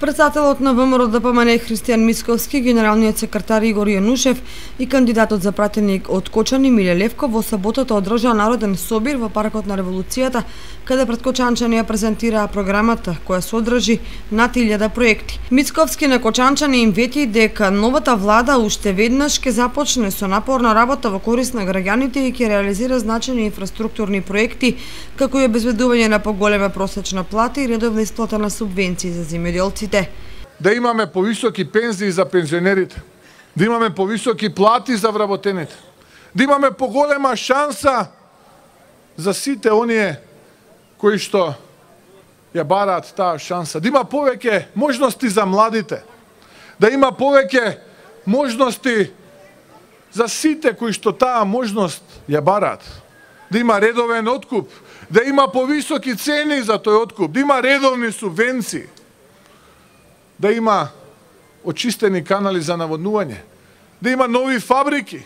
Председателот на ВМРО ДПМН Христијан Мицковски, генералниот секретар Игор Јанушев и кандидатот за пратеник од Кочани Миле Левков во саботата одржаа народен собир во паркот на Револуцијата, каде пред кочанчани ја презентираа програмата која содржи над 1000 проекти. Мицковски на кочанчани им вети дека новата влада уште веднаш ќе започне со напорна работа во корист на граѓаните и ќе реализира значајни инфраструктурни проекти, како и обезбедување на поголема просечна плата и редовна исплата на субвенции за земјоделците. Да имаме повисоки пензии за пензионерите, да имаме повисоки плати за вработените, да имаме поголема шанса за сите оние кои што ја бараат таа шанса, да има повеќе можности за младите, да има повеќе можности за сите кои што таа можност ја бараат, да има редовен откуп, да има повисоки цени за тој откуп, да има редовни субвенции, да има очистени канали за наводнување, да има нови фабрики.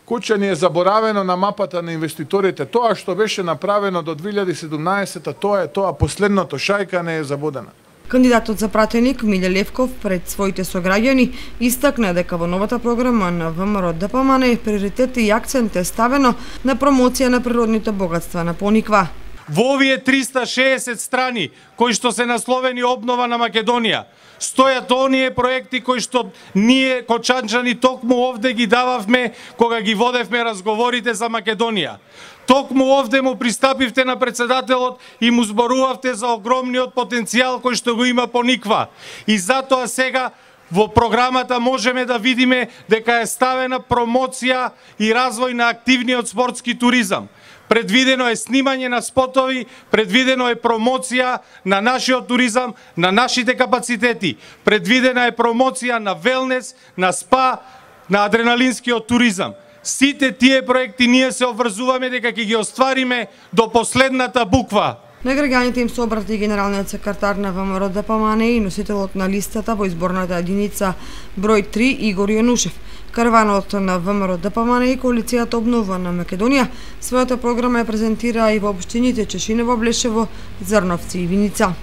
Кочани е заборавено на мапата на инвеститорите. Тоа што беше направено до 2017, тоа последното, шајка не е забодена. Кандидатот за пратеник Миле Левков пред своите сограѓани истакна дека во новата програма на ВМРО ДПМН приоритет и акцент е ставено на промоција на природните богатства на Пониква. Во овие 360 страни кои што се насловени обнова на Македонија, стојат оние проекти кои што ние кочанчани токму овде ги дававме кога ги водевме разговорите за Македонија. Токму овде му пристапивте на председателот и му зборувавте за огромниот потенцијал кој што го има Пониква. И затоа сега во програмата можеме да видиме дека е ставена промоција и развој на активниот спортски туризам. Предвидено е снимање на спотови, предвидено е промоција на нашиот туризам, на нашите капацитети. Предвидена е промоција на велнес, на спа, на адреналинскиот туризам. Сите тие проекти ние се обврзуваме дека ќе ги оствариме до последната буква. На граѓаните им се обрати генералниот секретар на ВМРО ДПМН и носителот на листата во изборната единица број 3 Игор Јанушев. Караванот на ВМРО ДПМН и коалицијата Обнова на Македонија својата програма ја презентираа и во општините Чешиново, Блешево, Зрновци и Виница.